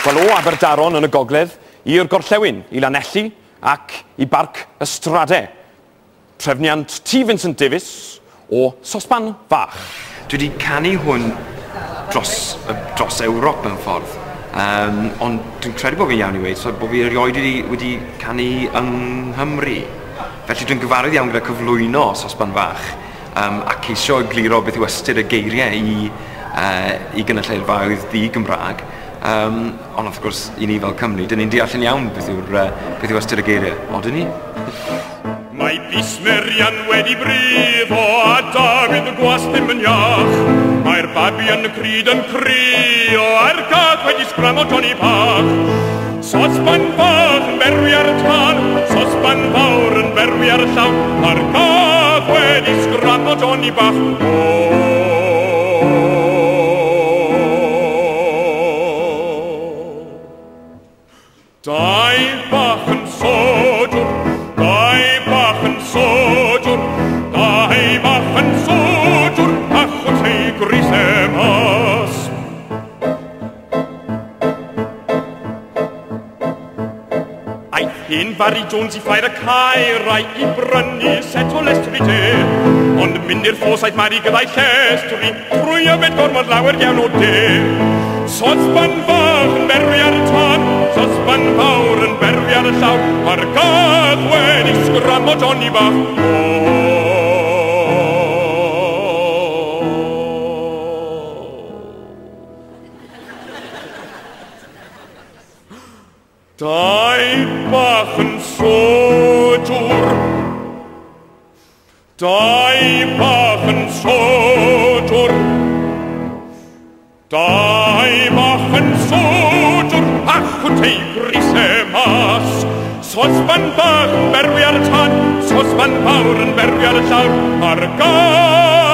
Wel, o Aberdaron yn y gogledd i'r gorllewin, i Lanelli ac i Barc y Strade. Trefniant T. Vincent Davies o Sosban Fach. Dwi wedi canu hwn dros Ewrop mewn ffordd. Ond dwi'n credu bod fi'n iawn i weud so bod fi erioed wedi canu yng Nghymru. Felly dwi'n gyfarwydd iawn gyda cyflwyno Sosban Fach a ceisio egluro beth yw ystyr y geiriau i gynulleidfaoedd di-Gymraeg. Ond wrth gwrs, i ni fel Cymru, dyn ni'n deall yn iawn beth yw ystyr y geiriau. Odyn ni? Mae bys Merian wedi brifo a Dafydd y gwas ddim yn iach. Mae'r babi yn y cryd yn crio a'r gath wedi sgramo Johnny bach. Sosban fach yn berwi ar y tân, sosban fawr yn berwi ar y llawn. Mae'r gath wedi sgramo Johnny bach. Dau bach yn sodwr, dau bach yn sodwr, dau bach yn sodwr, a chwt ei grisau mas. Aeth hen Barry Jones i ffair y caerau i brynu set o lestri te. Ond mynd i'r ffos aeth Mari gyda'i llestri, trwy yfed gormod lawer iawn o de. Sosban fach yn berwi ar y tân, sosban fawr yn berwi ar y llawr, a'r gath wedi sgramo Johnny bach. Dau bach yn sodwr, dau bach yn sodwr, dau bach yn sodwr, a chwt ei grisau mas. Sosban bach yn berwi ar y tân, sosban fawr yn berwi ar y llawr, a'r gath